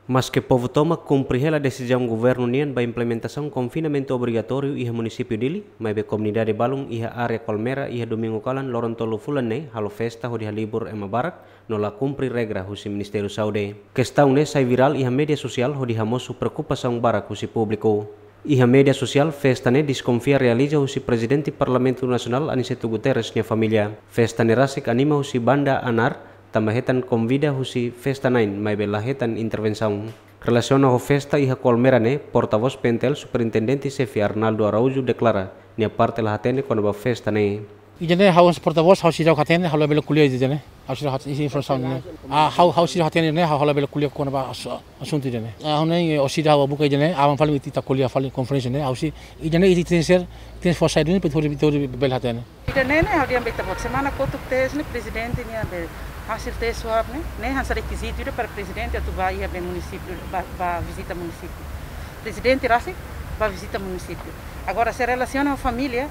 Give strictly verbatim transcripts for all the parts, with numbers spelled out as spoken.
Maske povu tomak kumpre hela desizaun governu nian ba implementasaun konfinamentu obrigatóriu iha munisípiu Dili, maibé komunidade balun iha área Colmera iha domingu kalan loron tolu fulan ne'e halo festa hodi halibur ema barak no la kumpre regra husi Ministériu Saúde. Kestaun ne'e sai virál iha média sosiál hodi hamosu preokupasaun barak husi públiku. Iha média sosiál, festa ne'e deskonfia realiza husi Prezidente Parlamentu Nasionál Aniceto Guterres nia família. Festa ne'e rasik anima husi banda Anar, tanba hetan konvida husi festa na'in, maibé la hetan intervensaun. Relasiona ho festa iha Colmera ne'e, portavós P N T L Superintendente Xefe Arnaldo Araújo deklara, nia parte la hatene kona-ba festa ne'e. Ida-ne'e ha'u portavós, ha'u seidauk hatene, ha'u labele ko'alia ida-ne'e. Ha'u seidauk hatene, isi informasaun ne'e. Ah, ha'u, ha'u seidauk hatene ne'e, ha'u, ha'u labele ko'alia kona-ba asu-, asuntu ida-ne'e. Ah, ha'u ne'e, eh, orsida ha'u buka ida-ne'e, aban fali ita ko'alia fali konferénsia ne'e, ha'u sei, ida-ne'e ita tenke ser, tenke forsa ida-ne'e, para ita bele hatene. Ida-ne'e ne'e, ha'u dehan ba ita-boot, semana kotuk test ne'e, prezidente nia be, hasil test swab ne'e, ne'e hanesan rekizitu ida para prezidente atu bá iha be munisípiu, bá, bá vizita munisípiu. Prezidente rasik bá vizita munisípiu. Agora, se relasiona ho família,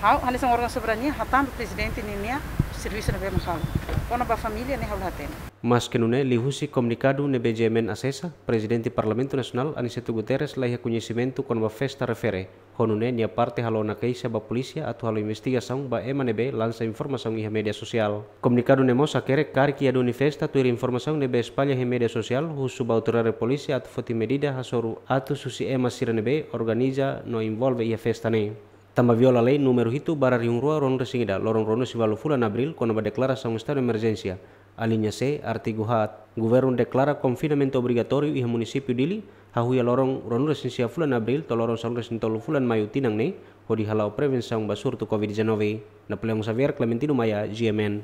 ha'u, hanesan órgaun soberania, hatán ba prezidente ninia servisu ne'ebé mak halo. Kona-ba família ne'e ha'u la hatene. Maske nune'e, liuhusi komunikadu ne'ebé G M N asesa, Prezidente Parlamentu Nasionál Aniceto Guterres la iha koñesimentu kona-ba festa refere. Ho nune'e, nia parte halo ona keixa ba polísia atu halo investigasaun ba ema ne'ebé lansa informasaun iha média sosiál. Komunikadu ne'e mós hakerek karik iha duni festa tuir informasaun ne'ebé espalla iha média sosiál, husu ba autoridade polísia atu foti medida hasoru atus husi ema sira ne'ebé organiza no envolve iha festa ne'e. Tanba viola lei númeru hitu barra rihun rua ruanulu-resin-ida, loron ruanulu-resin-ualu fulan Abríl, kona-ba deklarasaun estadu emerjénsia, alínea C, artigu haat, governu deklara konfinamentu obrigatóriu iha munisípiu Dili, hahú iha loron ruanulu-resin-sia fulan Abríl to'o loron sanulu-resin-tolu fulan Maiu tinan ne'e, hodi hala'o prevensaun ba surtu covid dezanove. Napoleão Xavier, Clementino Maia, G M N.